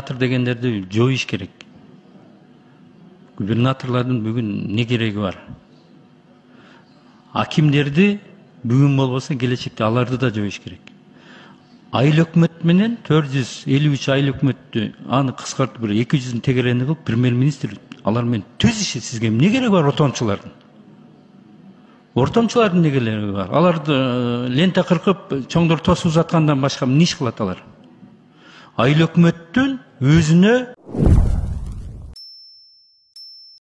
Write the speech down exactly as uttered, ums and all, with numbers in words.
губернатор дегендерди жоюш керек. Губернаторлордун бүгүн не кереги бар? Акимдерди бүгүн болбосо келечекте аларды да жоюш керек. Айыл өкмөт менен төрт жүз элүү үч айыл өкмөттү аны кыскартып бир эки жүздүн тегерени кылып премьер-министр алар менен түз иши сизге эмне кереги бар ортомчулардын? Ортомчулардын эмне кереги бар? Аларды лента кыркып чоңдор тосуп жаткандан башка эмне иш кылат алар? Айыл өкмөттүн өзүнө